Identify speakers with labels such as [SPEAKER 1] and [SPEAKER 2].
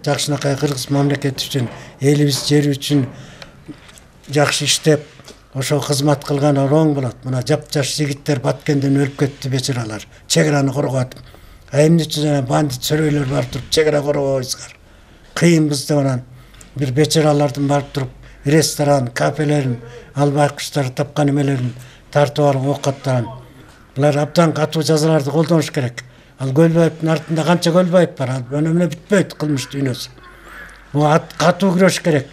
[SPEAKER 1] Жакшынакай кыргыз мамлекети үчүн, элибиз жери үчүн жакшы иштеп, ошо кызмат кылган ороң болот. Мына жапжаш жигиттер Баткенден өлүп кетти, бечаралар. Чек араны коргоп. А эмне үчүн бандит сөрөйлөр барып туруп чек ара коргобойсуздар? Кыйынбыз деп анан бир бечаралардын барып туруп ресторан, кафелерин, албайкычтар тапкан эмелерин тартып алып оокаттаган. Булар абдан катуу жазаларды колдонуш керек. Ал Көлбаевдин артында канча Көлбаев бар, ал эмне бүтпөйт кылмыш дүйнөсү. Бу катуу күрөш керек.